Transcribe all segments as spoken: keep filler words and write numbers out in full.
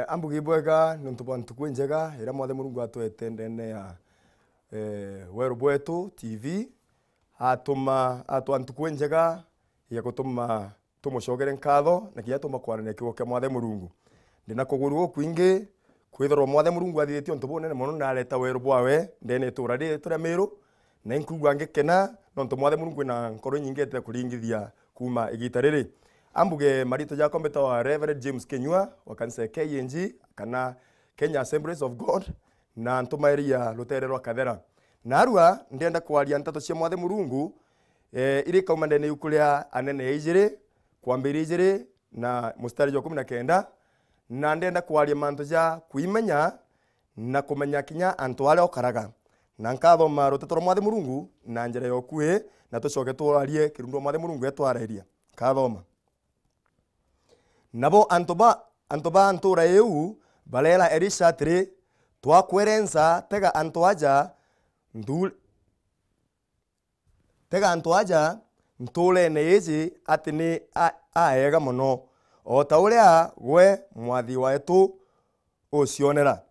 Ambugi bwega niuntu bwa ntuku injega iria Mwathe Murungu atwete ndene ya, eh, Weru Bwetu T V. Atuma, atwa ntuku injega ya gutuma tumucokere nkatho na kinya tuma kwarania kiugo kia Mwathe Murungu. Ndina kuguru gukwingi kwithirwa Mwathe Murungu athithitie untu bunene mono na areta weru bwawe ndene itura riri turia Miru, na inkwigua ngikena nontu Mwathe Murungu wina nkoro inyingi etete kuringithia kuuma igita riri. Ambuge marito jakwa mbitawa Reverend James Kenyua wa kanisa ya K A N G kana Kenya Assemblies of God, na ntumairia rutere rwa Kathera. Narua ndienda kwaria nteto cia Mwathe Murungu, eh, iri kauma ndene yuku ria Anene ya ijiri, kwambiria ijiri na mustari jwa kumi na kenda, na ndienda kwaria mantu ja kwimenya na kumenya kinya antu aria ukaraga. Na nkathoma ruteto rwa Mwathe Murungu na njira ya ukui, na tucoke twarie kirundu Mwathe Murungu etwarairia. Nkathoma. Nabo antu ba, antu ba ntuura iu bareera Elisha atiri, "Twakwerenca, tega antu aja nthu-, tega antu aja ntuurene iji ati ni a-, aega mono, o ta uria gwe mwathi wetu ucionera.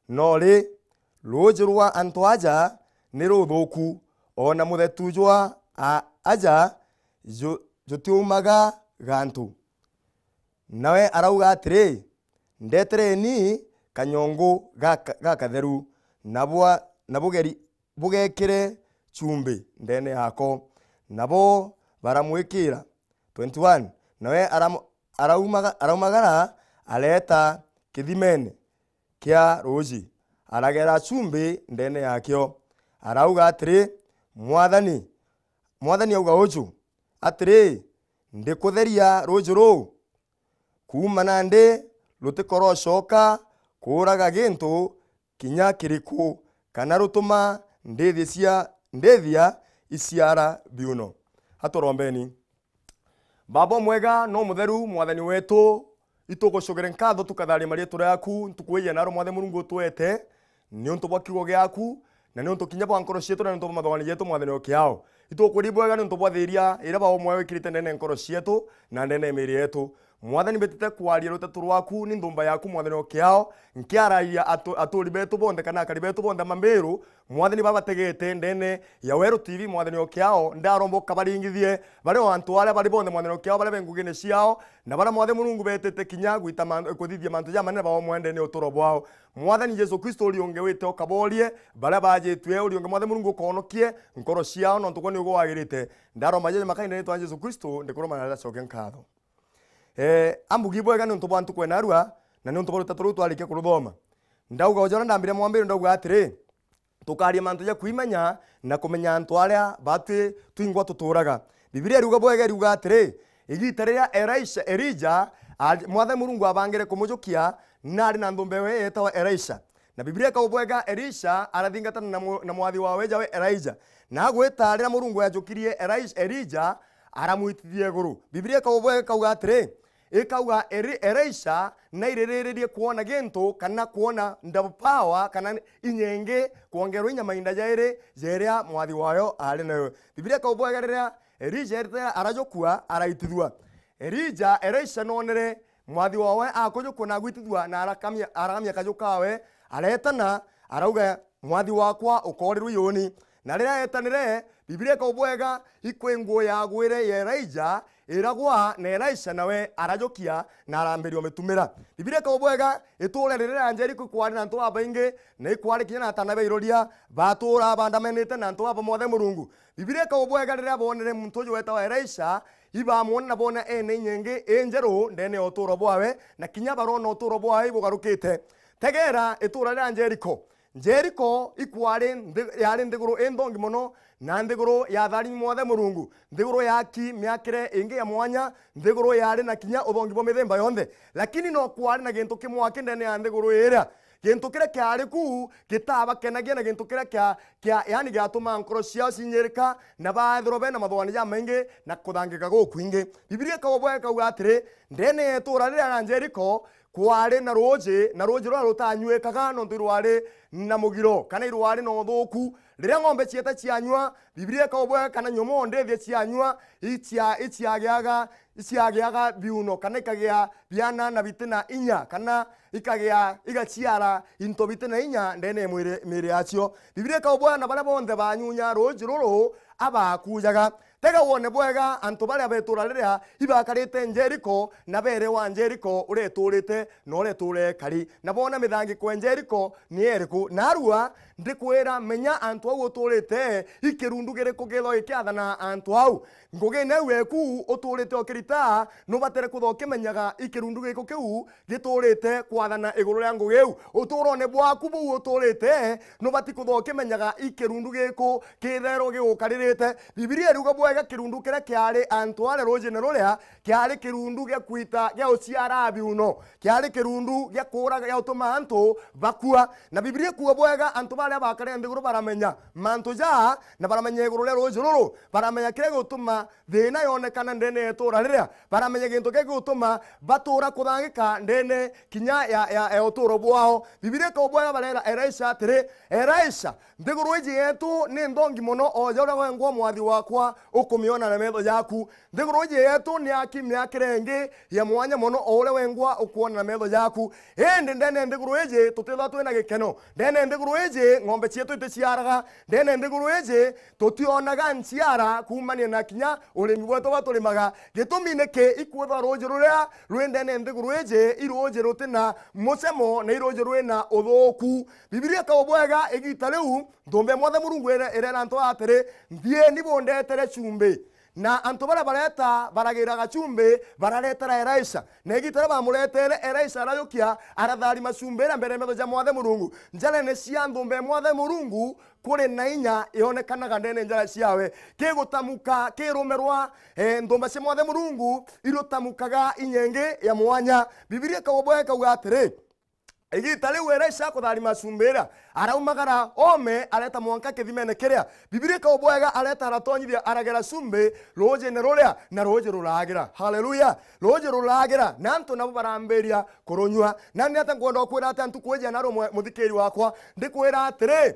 No ri, ruuji rwa antu aja ni ruthuuku, o na muthetu jwa a-, aja ju-, jutiumaga gantu." Nawe arauga atiri, "Ndetereni kanyongu gaka-, gakatheru, na bwa-, na bugeri-, bugekire chumbi ndene yako." Nabo baramwikira. Twenty-one, nawe aram-, araumaga-, araumagara, areeta kithimene kia ruuji, aragera chumbi ndene yakio. Arauga atiri, "Mwathani, Mwathani auga uju, atiri, ndikutheria ruuji ruu, kuuma nandi rutikorocoka kuuraga gintu kinya kiriku, kana rutuma ndithia cia, ndithia iciara biuno." Aturombeni. Baba umwega na umutheru, Mwathani wetu, itugucugire nkatho tukatharia marietwa riaku ntuku ii ya naro, Mwathe Murungu utwete, niuntu bwa kiugo giaku, na niuntu kinya bwa nkoro cietu, na niuntu bwa mathogani jetu, Mwathani o kiao. Itukuri bwega niuntu bwa thiria iria Baba umwe wikirite ndene ya nkoro cietu na ndene ya miiri yetu. Mwathani, mbitite kwaria ruteto rwaku, ni nthumba yaku, Mwathani o kiao, nkiaragia atu-, aturi betu bonthe kana akari betu bonthe a Mamiru, Mwathani, babategete ndene ya Weru T V, Mwathani o kiao, ndaromba ukabaringithie baria o antu aria bari bonthe, Mwathani o kiao, baria be ngugine ciao, na baria, Mwathe Murungu, betite kinya gwita man-, kuthithia mantu jamanene bao mwendene uturo bwao. Mwathani Jesu Kristo, uri ungi wite ukaborie baria bajitue, uri ungi, Mwathe Murungu, ukonokie nkoro ciao, nontu gwe ni uguo wagirite. Ndaromba jeje makaine ritwa Jesu Kristo, ndikuruma na ndacoke nkatho. Eh, ambugi bwega niuntu bwa ntuku ya narua, na niuntu bwa ruteto ruu twarikia kuruthoma. Ndauga uja uria ndambire mwambire, ndauga atiri, tukaria mantu ja kwimenya na kumenya antu aria batwi twingwa tuturaga. Bibilia iriuga bwega, iriuga atiri, igita riria Elisha, Elija, a-, Mwathani Murungu abangire kumujukia, nari na nthumba ewe yetagwa Elisha. Na Bibilia ikauga bwega, Elisha arathingatana na mu-, na mwathi wawe jawe Elija. Na agwita riria Murungu ajukirie Elisha, Elija, aramwitithia iguru. Bibilia ikauga bwega, ikauga atiri, ikauga Eli-, Elisha naiririririe kwona gintu kana kwona double power kana inya ingi kwongerwa inya mainda jairi ja iria mwathi wayo ari nayo. Bibilia ikauga bwega, riria Elija eritire arajukua, araitithua. Elija, Elisha nonere mwathi wawe akujukua na agwitithua na arakamia, arakamia kaju kawe, aretana, arauga, "Mwathi wakwa, ukoorirwe iuni." Na riria etanire, Bibilia ikauga bwega, ikwi nguu yagwire ya Elija iragwa, na Elisha nawe arajukia na arambiria umitumira. Bibilia ikauga bwega, itura riria ria Jeriko ikwari na antu babaingi, na ikwari kinya na atana ba iroria, batuura bandamanite na antu baba Mwathani Murungu. Bibilia ikauga bwega, riria boonere muntu uju wetagwa Elisha, ibamwona na boona ena inya ingi injeru ndene ya uturo bwawe, na kinya baroona uturo bwawe ibugarukite. Tegera itura ria Jeriko. Jeriko ikwari nthi-, yari nthiguru inthongi mono, na nthiguru ya tharimi Mwathani Murungu, nthiguru ya aki miakire ingi ya mwanya, nthiguru yari na kinya uthongi bwa mithemba yonthe. Lakini no kwari na gintu kimwe aki ndene ya nthiguru iria. Gintu kiria kiari ku gitabakenagia, na gintu kiria kia, kia, yani, giatumaa nkoro ciao cinyirika, na baethirwa bena mathogani jamaingi na kuthangika gukwingi. Bibilia ikauga bwega, ikauga atiri, ndene ya itura riria ria Jeriko kwari na ruuji, na ruuji ruria rutanywikaga nontu irwari na mugiro, kana irwari na uthuuku. Riria ng'ombe cieta cianyua, Bibilia ikaubwega kana nyomoo ndithia cianyua, icia-, iciagiaga, iciagiaga biuno, kana ikagia biana na biti na inya, kana ikagia, igaciara into biti na inya ndene ya mwiri, miiri yacio. Bibilia ikaubwega na baria bonthe banyunya ruuji ruru abakujaga. Tega wone bwega antu baria betura riria ibakarite Jeriko, na beere wa Jeriko uria eturite na uria etura ekari, na boona mithangiko ya Jeriko ni iriku. Naarua ndikwira, menya antu au uturite, i kirundu giriku githoo gikiathana antu au. Ngugine iu eku uturite ukirita, nubatire kuthoo kimenyaga i kirundu giku kiu giturite kwathana iguru ria ngugi iu. Uturone bwaku buu uturite, nubati kuthoo kimenyaga i kirundu giku kitherwa gigukaririte. Bibilia iriuga bwega kirundu kiria kiari antu aria ruujine ruria kiari kirundu gia kwita, gia uciara biuno, kiari kirundu gia kuura, gia utuma antu bakua. Na Bibilia ikuuga bwega antu baria bakare nthiguru baramenya mantu jaa, na baramenya iguru ria ruuji ruru, baramenya kiria gigutuma thiina yonekana ndene ya ituura riria, baramenya gintu kiria gigutuma batuura kuthangika ndene kinya ya, ya, ya utuuro bwao. Bibilia ikauga bwega bareera Elisha atiri, Elisha, nthiguru iji yetu ni nthongi mono, o ja uria wengwa mwathi wakwa ukumiona na metho jaku. Nthiguru iji yetu ni aki miakire ingi ya mwanya mono, o uria wengwa ukuona na metho jaku. Indi ndene ya nthiguru iji tutithwa twina gikeno. Ndene ya nthiguru iji ng'ombe cietu iticiaraga. Ndene ya nthiguru iji tutionaga nchiara kuumania na kinya urimi bwetu bwa turimaga. Gitumi niki? Ikwithwa ruuji ruria rwi ndene ya nthiguru iji i ruuji rutina mucemo na i ruuji rwina uthuuku. Bibilia ikauga bwega igiita riu nthumba ya Mwathe Murungu ire-, ireera antu aa atiri, nthieni bundetere chumbi. Na antu baria bareeta baragira gachumbi, bararetera Elisha. Na igiita riria bamureteere, Elisha arajukia, aratharima chumbi iria mbere ya metho ja Mwathe Murungu. Njarene cia nthumba ya Mwathe Murungu kuri na inya yonekanaga ndene njara ciawe. Kigutamuka, kirumirwa, eh, nthumba cia Mwathe Murungu irutamukaga inya ingi ya mwanya. Bibilia ikauga bwega ikauga atiri, igiita riu Elisha akutharima chumbi iria, araumagara oome, areta mwanka kithimene kiria. Bibilia ikauga bwega areta aratonyithia, aragera chumbi ruujine ruria, na ruuji ruragira. Haleluya! Ruuji ruragira, na antu nabo barambiria kurunyua. Na ni ata nkwenda gukwira ati ntuku iji ya naarua mwe-, muthikiri wakwa, ndikwira atiri,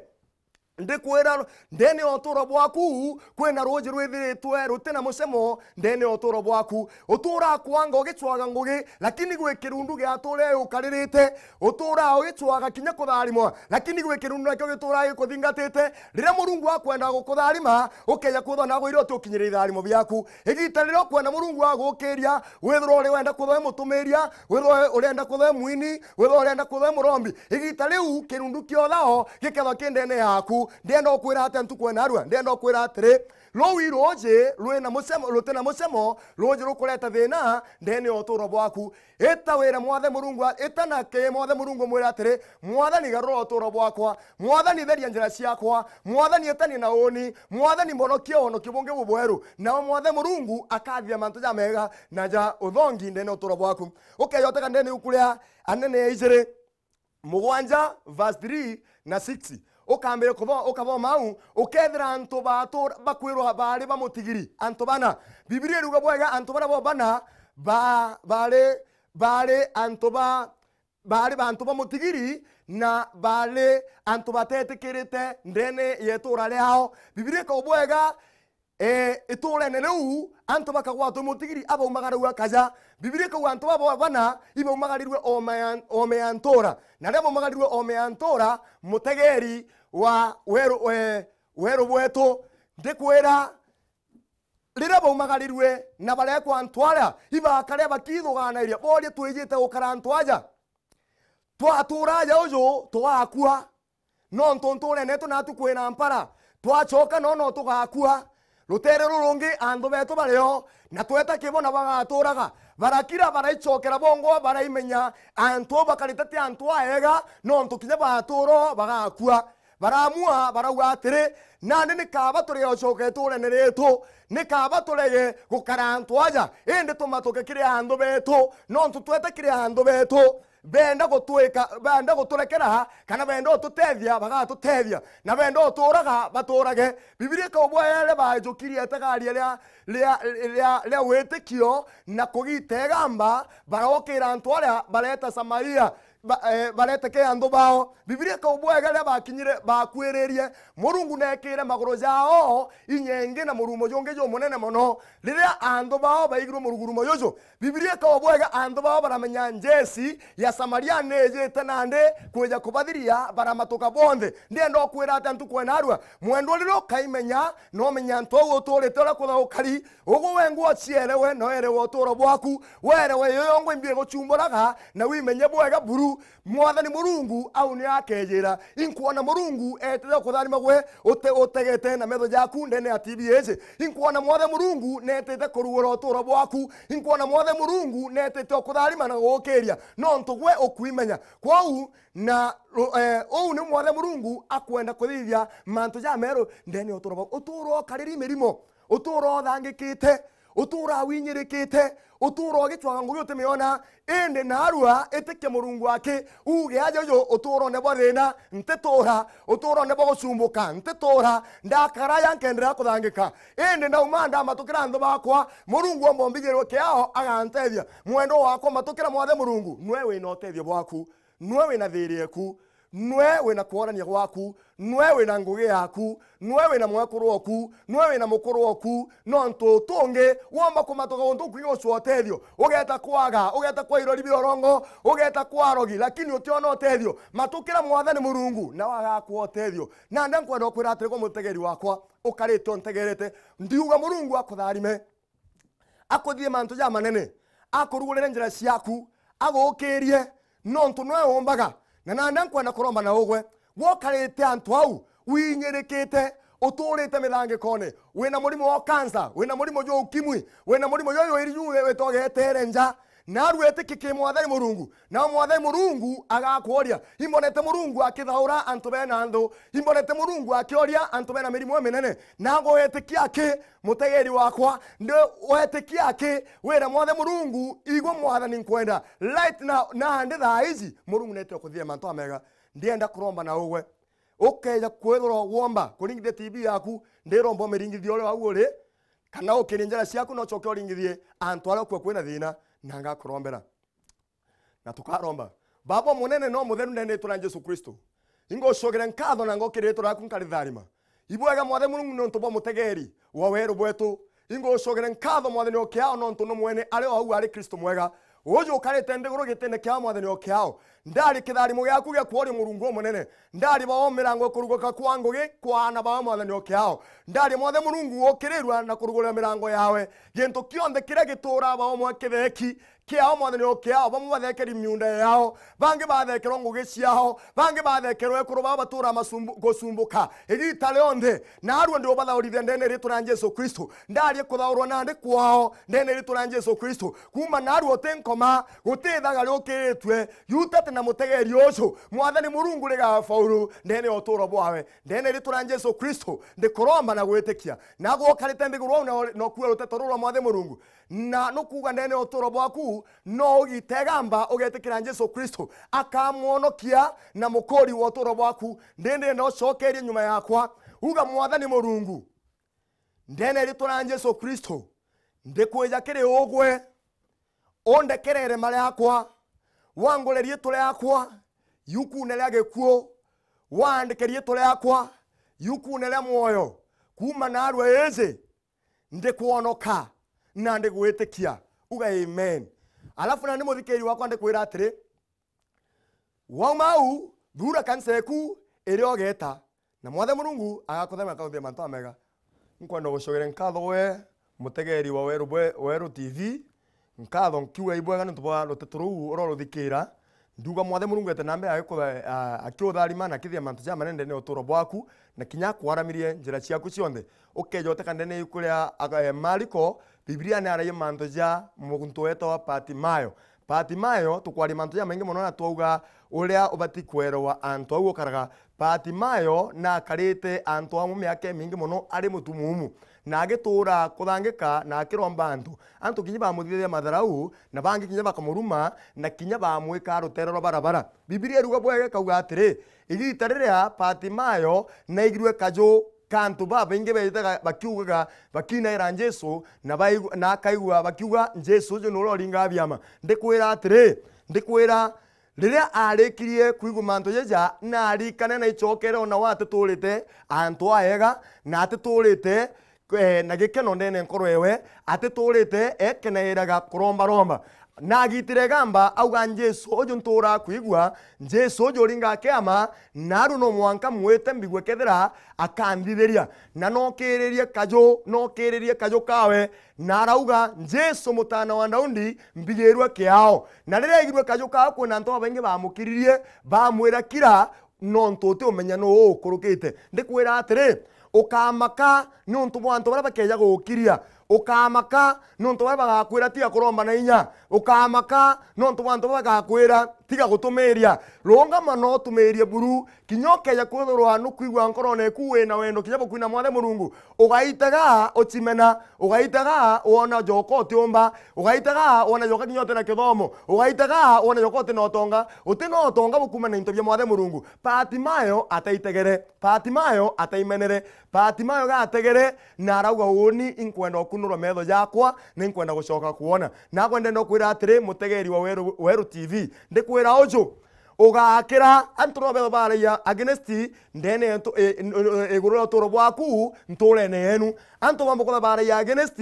ndikwira, ndene ya utuuro bwaku kwina ruuji rwithiritwe rutina mucemo ndene ya utuuro bwaku. Utuuraa kwanga ugicwaga ngugi, lakini gwi kirundu gia tuuria ukaririte. Utuuraa ugicwaga kinya kutharimwa, lakini gwi kirundu nakio gituuraa gikuthingatite. Riria Murungu akwenda gukutharima, ukeja kwithwa naagwire uti ukinyire itharimo biaku. Igiita riria ukwenda Murungu agukiria, withirwa uri wenda kwithwa wi mutumiria, withirwa urenda kwithwa wi mwini, withirwa urenda kwithwa wi murombi, igiita riu kirundu kia uthao gikethwa ki ndene yaku. Ndienda ukwira atia ntuku ya naarua? Ndienda ukwira atiri, ruu i ruuji rwina mucemo, rutina mucemo, ruuji rukureta thiina ndene ya utuuro bwaku. Ita wire Mwathe Murungu a-, ita na kii Mwathe Murungu umwire atiri, Mwathani, garura utuuro bwakwa. Mwathani, theria njira ciakwa. Mwathani, itania na uuni. Mwathani, mbonokia wonokio bungi bubweru. Nao Mwathe Murungu akathithia mantu jamega na ja uthongi ndene ya utuuro bwaku. Ukeja utega ndene ibuku ria Anene ya ijiri, mugwanja, verse three na six. Ukambiria kutho-, ukathoma au, ukethira antu batura-, bakwirwa baari ba mutigiri, antu bana. Bibilia iriuga bwega, antu baria bo bana ba-, baari, baari antu ba, baari bantu ba mutigiri, na baari antu batetikirite ndene ya ituura riao. Bibilia ikauga bwega, eh, ituurene riu, antu bakagwatwa mutigiri, abaumagaragua kaja. Bibilia ikauga antu babo bana ibaumagarirwe oome ya, oome ya ntuura. Na riria baumagarirwe oome ya ntuura, mutegeri wa weru, eh, weru bwetu, ndikwira, riria baumagarirwe na barekwa antu aria, ibakaria bakithuganairia, borie, twijite gukara antu aja? Twatuura aja uju, tugakua. Nontu ntuurene yetu naatu kwina mpara. Twacoka no, no tugakua. Ruteere rurungi antu betu bario, na tweta kibo na bagaturaga. Barakira, baraicokera bongwa, baraimenya antu au bakarite ti antu aega, nontu kinya batuuro bagakua. Baramua, barauga atiri, nandi ni kaaba turege gucoka ituurene rietu, ni kaaba turege gukara antu aja, indi tumatuke kiri anthu betu, nontu twete kiri anthu betu. Benda gutwika, benda guturekera, kana benda ututethia, bagatutethia, na benda utuuraga, batuurage. Bibilia ikauga bwega riria baajukirie itagaria ria, ria, ria, ria witikio na kugita igamba, barokira antu aria bareta Samaria, ba, eh, barete ke anthu bao. Bibilia ikauga bwega riria bakinyire, bakuiririe, Murungu neekire maguru jao inya ingi na murumo jungi jumunene mono. Riria anthu bao baigirwe murugurumo juju, Bibilia ikauga bwega anthu bao baramenya njeci ya Samaria ni ijite nandi kwija kubathiria, baramatuka bonthe. Ndienda ukwira ati ntuku ena arua, mwendwa, riria ukaimenya, no umenye antu au uturite uria kuthaukari, ugu wengwa ucierewe, na werewe uturo bwaku, werewe iyo yongwa imbi iguchumburaga, na wimenye bwega buru. Mwathani Murungu au nio akejira, inkwona Murungu etite kutharima gwe ute-, utegete na metho jaku ndene ya T V iji. Inkwona Mwathani Murungu netite kurugura uturo bwaku. Inkwona Mwathani Murungu netite ukutharima na gugukiria, nontu gwe ukwimenya. Kwou na ru-, eh, uu ni Mwathani Murungu akwenda kuthithia mantu jameru ndene ya uturo bwaku. Uturo ukariri mirimo, uturo uthangikite, utura winyirikite, utura ugicwaga ngugi utimiona, indi naarua itikia Murungu aki, uge aja uju uturone bwa thina, ntituura, uturone bwa gucumbuka, ntituura, ndakara aja nkenderea kuthangika. Indi ndauma ndamatukira anthu bakwa, Murungu omba umbigirwe kiao agantethia. Mwendwa wakwa, matukira Mwathe Murungu, nwe wina utethio bwaku, nwe wina thiri eku, nwe wina kworania gwaku, nwe wina ngugi yaku, nwe wina mwekuru oku, nwe wina mukuru oku, nontu utungi womba kumatuka guntu ukwingi gucua utethio, ugeta kwaga, ugeta kwa irori bia urongo, ugeta kwa arogi, lakini utiona utethio. Matukira Mwathani Murungu, nawe agakwa utethio. Nandi nkwenda ukwira atiri, gwe mutegeri wakwa, ukarite untegerete, ndiuga Murungu akutharime, akuthithie mantu jamanene, akurugurire njira ciaku, agukirie, nontu nwe umbaga. Na nandi nkwenda kuromba na ugwe, gwe ukarite antu au, winyirikite, uturite mithangikone, wina murimo wa cancer, wina murimo jwa ukimwi, wina murimo jwa jwiri ju witwa getere nja, naarua itikia ki Mwathani Murungu, nao Mwathani Murungu agakworia. Imbonete Murungu akithaura antu bena nthu, imbonete Murungu akioria antu bena mirimo iminene, naagwe witikia ki? Mutegeri wakwa, ndi wetikia aki, wira Mwathe Murungu, igwe Mwathani nkwenda. Right now, nandi thaa iji, Murungu nete ukuthithia mantu amega. Ndienda kuromba na ugwe. Ukeja kwithirwa womba kuringithia T V yaku, ndiromba umiringithie uria wau uri, kana ukirie njara ciaku na ucoke uringithie antu aria ukua kwina thina, na ngakurombera. Na tukaromba. Baba Munene na Mutheru, ndene ritwa ria Jesu Kristo, ingucugire nkatho na ngokiria ritwa riaku nkaritharima. Ibwega Mwathe Murungu niuntu bwa mutegeri wa weru bwetu. Ingucugire nkatho Mwathani o kiao nontu nu mwene ari o au ari Kristo mwega. Uju ukarite nthiguru gitine kiao Mwathani o kiao. Ndari kitharimo giaku gia kworia Murungu umunene. Ndari bao mirango ikuruguka kwa ngugi kwa aana bao Mwathani o kiao. Ndari Mwathe Murungu ukirirua na kurugurira mirango yawe. Gintu kionthe kiria gituraa bao mwa kitheki, kiao, Mwathani, o kiao. Bamwe bathekeri miunda yao, bangi bathekerwa ngugi ciao, bangi bathekerwa ekuru bao batura masumbu-, gusumbuka igita rionthe. Naarua ndi ubathaurithia ndene ritwa ria Jesu Kristo. Ndarie kuthaurwa nandi kwao ndene ritwa ria Jesu Kristo. Kuuma naarua uti nkoma, guti thaga riukiritue, yutate na mutegeri uju, Mwathani Murungu, rigafaulu ndene ya uturo bwawe. Ndene ritwa ria Jesu Kristo, ndikuromba na gwitikia. Nagwe ukarite nthiguru au na, na ukua ruteto ruu rwa Mwathani Murungu. Na nukuuga ndene ya uturo bwaku, no ugite igamba ugetikira Jesu Kristo akamwonokia na mukuri wa uturo bwaku. Ndindi ndienda ucokerie nyuma yakwa, uga, Mwathani Murungu, ndene ritwa ria Jesu Kristo, ndikwija kiri ugwe, undekerere mari akwa, wangure riitwa riakwa yukune ria gikuu, waandike riitwa riakwa yukune ria mwoyo. Kuuma naarua iji, ndikwonoka na ndigwitikia. Uga amen. Alafu nani muthikiri wakwa ndikwira atiri, wauma au, thuura kanisa eku iria ugeeta, na Mwathe Murungu agakuthema akaguthia mantu amega. Nkwenda gucugire nkatho we mutegeri wa Weru bwe-, Weru T V, nkatho nkiuga ibwega niuntu bwa ruteto ruu uria uruthikiira. Ndiuga Mwathe Murungu ete na mbere agikutha-, a-, akiutharima na akithia mantu jamanene ndene ya uturo bwaku, na kinya akwaramirie njira ciaku cionthe. Ukeja uteka ndene ya ibuku ria aga-, e, Mariko, Bibilia ni aragia mantu ja muntu wetawa Patimayo. Patimayo, tukwaria mantu jamaingi mono na twauga uria ubati kwerewa antu au ukaraga. Patimayo nakarite antu amwe miaka imingi mono ari mutumumu. Na agituura kuthangika na akiromba antu. Antu kinya bamuthithagia matharau, na bangi kinya bakamuruma, na kinya bamwikaa ruteere rwa barabara. Bibilia iruga bwega ikauga atiri, igiita riria Patimayo naigirue kaju ka antu babaingi beejitaga bakiugaga, bakiinaira Jesu, na baigu-, na akaigua bakiuga, "Jesu uju niwe uria uringaga biama." Ndikwira atiri, ndikwira, riria aarikirie kwigua mantu jaja, naarikane na icokere o nawe atituurite antu aega, na atituurite, eh, na gikeno ndene nkoro ewe, atituurite ekenairaga kurombaromba. Naagitire igamba, auga, "Jesu uju ntuuraa kwigua, Jesu uju uringaa kiama, naarua no mwanka mwite mbigue kethira akanthithiria." Na nookiririe kaju, nookiririe kaju kawe, na arauga, "Jesu, Mutaana wa Daudi, mbigirua kiao." Na riria aigirue kaju kawe, kwina antu babaingi baamukiririe, bamwira, "Kira, nontu utiumenya nuu ukurukite." Ndikwira atiri, ukamaka niuntu bwa antu baria bakeeja gugukiria. Ukamaka niuntu baria bagakwira, "Tiga kuromba na inya." Ukamaka niuntu bwa antu baria bagakwira, "Tiga gutumiiria." Rungama na utumiirie buru, kinya ukeeja kwithirwa nukwigua nkorone eku wina wendo kinya bukwina Mwathe Murungu. Ugaitaga ucimena, ugaitaga wona joka utiumba, ugaitaga wona joka kinya utina kithomo, ugaitaga wona joka utina utonga, utina utonga bukuumana na into bia Mwathe Murungu. Patimayo ataitegere, Patimayo ataimenere, Patimayo gategere, na arauga, "Uuni inkwenda ukunurwa meetho jakwa, na inkwenda gucoka kwona." Nagwe ndenda ukwira atiri, mutegeri wa Weru, Weru T V, ndikwira uju, ugakira, antu no beetho baragia against ndene yentu, i-, i-, i-, iguru ria uturo bwaku, ntuurene yenu. Antu bambe kwitha baragia against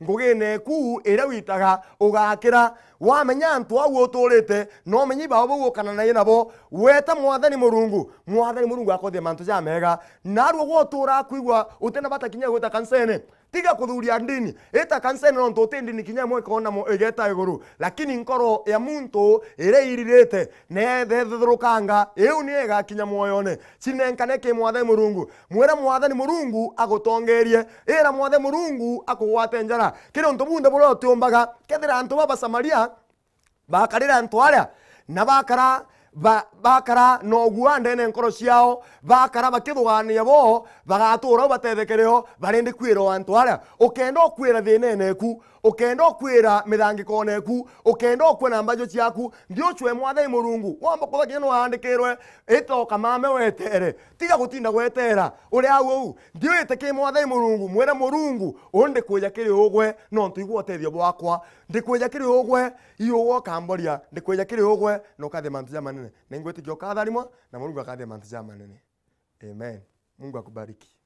ngugine eku iria witaga, ugakira. Wamenya antu au utuurite, na umenye ibao bau ukananagia nabo, weta Mwathani Murungu, Mwathani Murungu akothia mantu jamega. Naarua gwe utuuraa kwigua utina bata kinya gwita kanisene. Tiga kuthuria ndini. Ita kanisene nontu uti ndini kinya imwe ikoona mo-, igeeta iguru. Lakini nkoro ya muntu iria iririte, neethethurukanga, iu niyo igakinya mwoyone. Cinenkane ki Mwathani Murungu. Mwire Mwathani Murungu agutongeerie. Ira Mwathani Murungu akugwate njara. Kiri untu bunthe buria utiumbaga, kethira antu baba Samaria, bakarira antu aria, na bakara, ba-, bakara na ugua ndene nkoro ciao, bakara bakithugaania bo, bagatuura u bateethekere o, barindi kwira o antu aria. Ukenda ukwira thiinene eku, ukenda ukwira mithangikone eku, ukenda ukua na mbajo ciaku, nthi ucwe Mwathani Murungu. Womba kwitha kinya ni waandikirwe, ita ukamame wetere. Tiga gutinda gweteera. Uri au uu, nthi wite ki Mwathani Murungu, mwire Murungu, uu ndikwija kiri ugwe, nontu igua utethio bwakwa. Ndikwija kiri ugwe, i ugwe ukamboria, ndikwija kiri ugwe, na ukathia mantu jamanene. Na ingwitikia ukatharimwa, na Murungu akathia mantu jamanene. Amen. Mungu akubariki.